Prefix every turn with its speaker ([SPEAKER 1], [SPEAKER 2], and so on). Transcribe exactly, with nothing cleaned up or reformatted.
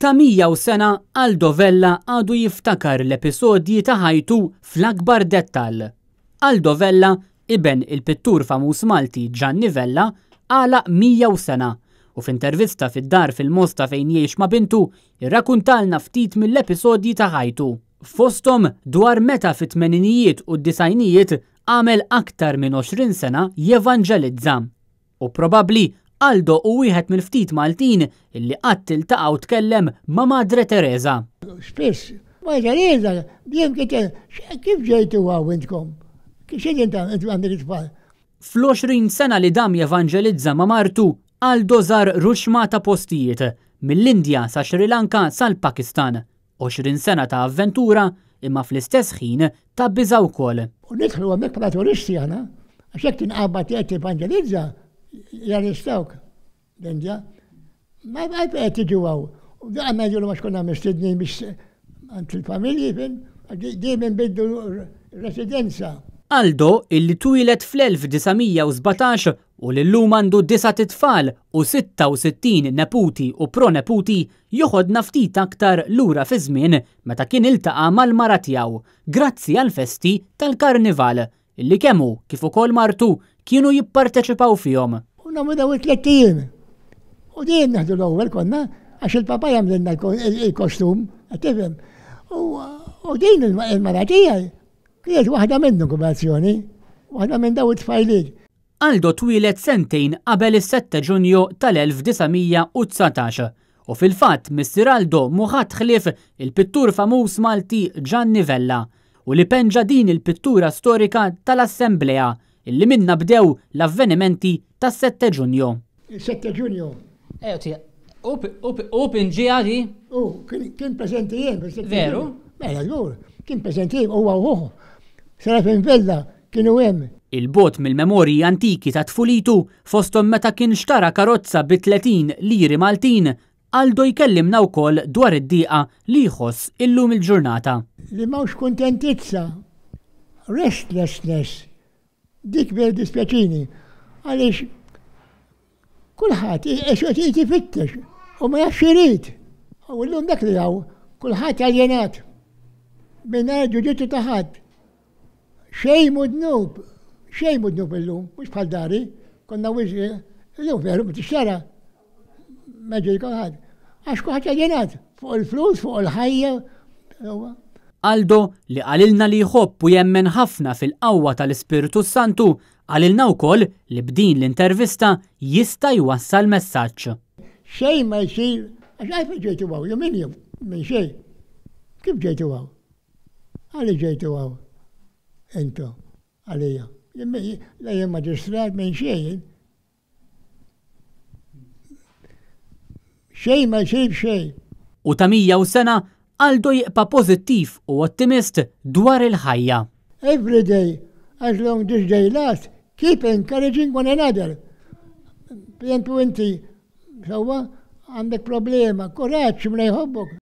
[SPEAKER 1] Ta' mija u sena Aldo Vella għadu jiftakar l-episodji ta' ħajtu fl-akbar dettall. Aldo Vella, iben il-pittur famuż Malti Gianni Vella, għalaq mija u sena u f'intervista fid-dar fil-Mosta fejn jgħix ma' bintu, irrakuntalna ftit mill-episodji ta' ħajtu. Fosthom dwar meta fit-tmeninijiet u d-disgħinijiet għamel aktar minn għoxrin sena jevanġelizza. U probabbli Aldo hu wieħed mill-ftit Maltin illi qatt iltaqa' u tkellem ma' Madre Teresa.
[SPEAKER 2] Spiss, Madre Teresa, dejjem kienet, kif ġejtu hawn intkom? X'qegħdin tagħmlu intom għandek it-tfal?
[SPEAKER 1] Fl-għoxrin sena li dam jevanġelizza ma' martu, Aldo żar ruxma ta' postijiet, mill-Indja sa Sri Lanka sal-Pakistan. għoxrin sena ta' avventura imma fl-istess ħin ta' biża' wkoll.
[SPEAKER 2] U nidħlu hemmhekk bħala turisti aħna, għax jekk tinqabad qed tevanġelizza, jarrestawk l-Indja. Ma qed tiġu hawn. U daqqa ngħidulu għax konna mistednin biex għand il-familji, fim, dejjem inbiddu residenza.
[SPEAKER 1] Aldo, illi twieled fl-elf disa' mija u sbatax u li llum għandu disat itfal u sitta u sittin neputi u proneputi, joħodna ftit aktar lura fiż-żmien meta kien iltaqa' mal-mara tiegħu, grazzi għall-festi tal-Karnival, illi kemm hu kif ukoll martu kienu jipparteċipaw fihom.
[SPEAKER 2] U nagħmlu dawn it-tliet ijiem. U dejjem neħdu l-ewwel konna, għax il-papa jagħmlilna il-kostum, qed tifhem. U din il-mara tiegħi kienet waħda minnhom kombinazzjoni, waħda minn dawn it-tfajliet.
[SPEAKER 1] Aldo twieled sentejn qabel is-sette Ġunju tal-elf disa' mija u dsatax u fil-fatt missier Aldo mhu ħadd ħlief il-pittur famuż Malti Gianni Vella u li penġa din il-pittura storika tal-Assemblea illi minnha bdew l-avvenimenti tas-sette Ġunju.
[SPEAKER 2] Is-sette Ġunju.
[SPEAKER 3] Ejja, tija, u pinġiha di?
[SPEAKER 2] U, kien preżenti jien fis-sette Ġunju.
[SPEAKER 3] Veru?
[SPEAKER 2] Mela, żgur, kien preżenti jien huwa u ħuh. Serafin Vella kienu hemm.
[SPEAKER 1] Il-bogħod mill-memorji antiki ta' tfulitu, fosthom meta kien xtara karozza bi tletin liri Maltin, Aldo jkellimna wkoll dwar id-dieqa li jħoss illum il-ġurnata.
[SPEAKER 2] Li m'hawnx kuntentizza, restlessness, dik vera dispjaċini, għaliex kulħadd qed ifittex u ma jafx irid. U llum dak li hawn, kulħadd aljenat, mingħajr ġudizzju ta' ħadd. Xejn mhu dnub, xejn mhu dnub illum, mhux bħal dari, konna wisq, illum veru ma tixtara, ma ġej kulħadd. Għax kulħadd aljenat fuq il-flus, fuq il-ħajja.
[SPEAKER 1] Aldo, li qalilna li jħobb u jemmen ħafna fil-qawwa tal-Ispirtu Santu, qalilna wkoll li b'din l-intervista jista' jwassal messaġġ.
[SPEAKER 2] Xejn ma jsir, għax għalfejn ġejtu hawn, jew min jew minn xejn. Kif ġejtu hawn? Għaliex ġejtu hawn? Intom, għalija. La jien maġistrat minn xejn. Xejn ma jsir b'xejn.
[SPEAKER 1] U ta' mija u sena, Aldo jibqa' pożittiv u ottimist dwar il-ħajja.
[SPEAKER 2] Every day, as long this day lasts, keep encouraging one another. Per eżempju inti, sewwa, għandek problema, kuraġġ minn jħobbok.